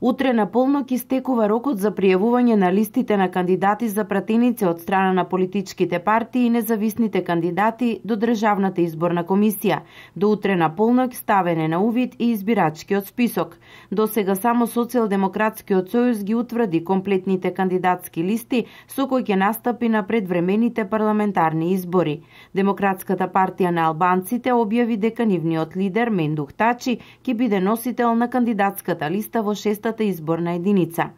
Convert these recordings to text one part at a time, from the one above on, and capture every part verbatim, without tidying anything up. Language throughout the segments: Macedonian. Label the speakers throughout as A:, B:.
A: Утре на полнок истекува рокот за пријавување на листите на кандидати за пратеници од страна на политичките партии и независните кандидати до Државната изборна комисија. До утре на полнок ставен е на увид и избирачкиот список. До сега само Социјалдемократскиот сојуз ги утврди комплетните кандидатски листи со кои ќе настапи на предвремените парламентарни избори. Демократската партија на албанците објави дека нивниот лидер Мендух Тачи ќе биде носител на кандидатската листа во шестата изборна единица.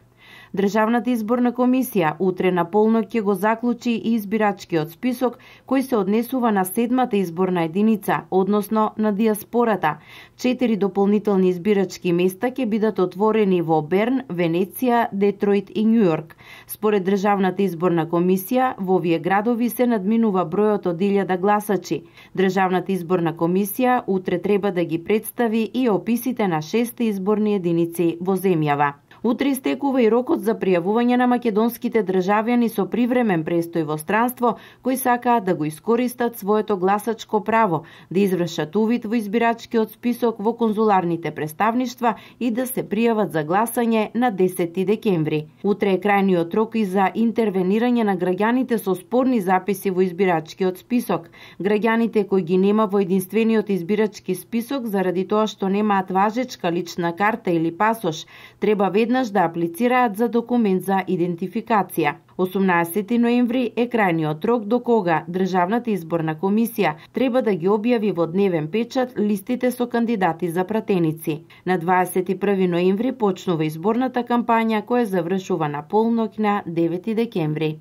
A: Државната изборна комисија утре на полнок ќе го заклучи и избирачкиот список кој се однесува на седмата изборна единица, односно на диаспората. Четири дополнителни избирачки места ќе бидат отворени во Берн, Венеција, Детройт и Њујорк. Според Државната изборна комисија, во овие градови се надминува бројот од илјада гласачи. Државната изборна комисија утре треба да ги представи и описите на шест изборни единици во земјава. Утре истекува и рокот за пријавување на македонските државјани со привремен престој во странство кои сакаат да го искористат своето гласачко право, да извршат увид во избирачкиот список во конзуларните представништва и да се пријават за гласање на десети декември. Утре е крајниот рок и за интервенирање на граѓаните со спорни записи во избирачкиот список. Граѓаните кои ги нема во единствениот избирачки список заради тоа што немаат важечка лична карта или пасош, треба веднаш да аплицираат за документ за идентификација. осумнаесети ноември е крајниот рок до кога Државната изборна комисија треба да ги објави во дневен печат листите со кандидати за пратеници. На дваесет и први ноември почнува изборната кампања која завршува на полнок на девети декември.